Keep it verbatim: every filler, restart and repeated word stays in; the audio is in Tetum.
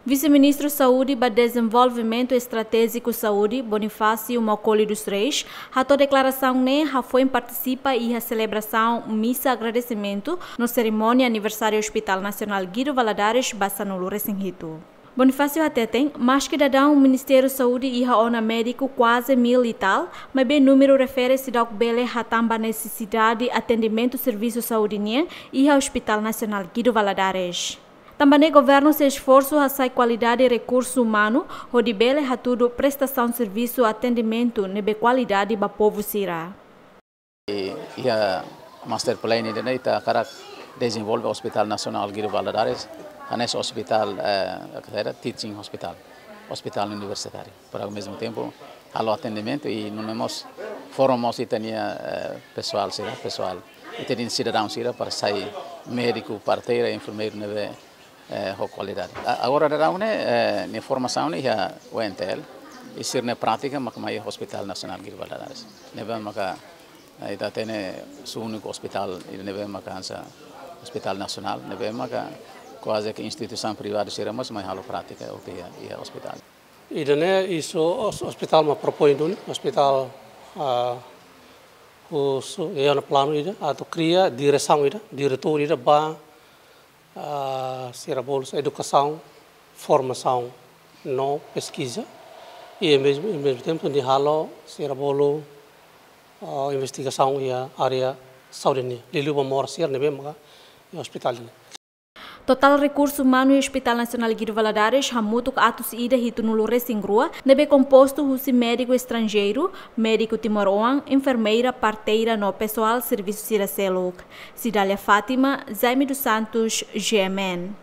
Vise-Ministru Saúde ba Dezenvolvimentu Estratéjiku Saúde, Bonifácio Macaulay dos Reis, hato'o deklarasaun ne'e hafoin partisipa iha selebrasaun misa agradesimentu no serimónia aniversáriu Hospital Nasionál Guido Valadares ba sanulu resin hitu. Bonifácio hateten, maski daudaun Ministériu Saúde iha ona médiku kuaze mil e tal, maibé númeru refere seidauk bele hatán ba nesesidade atendimentu servisu saúde nian iha Hospital Nasionál Guido Valadares. Tanba ne'e governu sei esforsu hasa'e kualidade rekursu umanu, hodi bele hatudu prestasaun servisu atendimentu ne'ebé kualidade ba povu sira. I, iha master plan ida-ne'e ita hakarak dezenvolve Hospital Nasionál Guido Valadares, hanesan hospital, eh, que era teaching hospital, hospital universitáriu. Para ao mesmo tempo, halo atendimentu i nune'e mós forma mós ita-nia, eh, pesoál sira, pesoál. Ita-nia sidadaun sira para sai médiku, parteira, enfermeiru ne'ebé, eh, ho kualidade. A-, agora daudaun ne'e, eh, nia formasaun ne'e iha U N T L, i sira-nia prátika mak mai Hospital Nasionál Guido Valadares. Ne'ebé maka, eh, ita hatene úniku hospital, i ne'ebé maka hanesan Hospital Nasionál, ne'ebé maka kuaze ke instituisaun privadu sira mós mai halo prátika hotu iha, iha hospital. Ida-ne'e husi os-, hospital mak propoin duni, hospital, ah, husi, iha ona planu ida, atu kria diresaun ida, diretór ida ba, ah, sira bolu edukasaun, formasaun no peskiza, i ao mesmo, ao mesmo tempo atu halo sira bolu, ah, investigasaun iha área saúde nian, liuliu ba moras sira ne'ebé maka iha hospital nian. Totál rekursu umanu iha Hospital Nasionál Guido Valadares hamutuk atus ida hitunulu resin rua, ne'ebé kompostu husi médiku estranjeiru, médiku timoroan, enfermeira, parteira no pesoál servisu sira seluk. Cidália Fátima, Jaime dos Santos, G M N.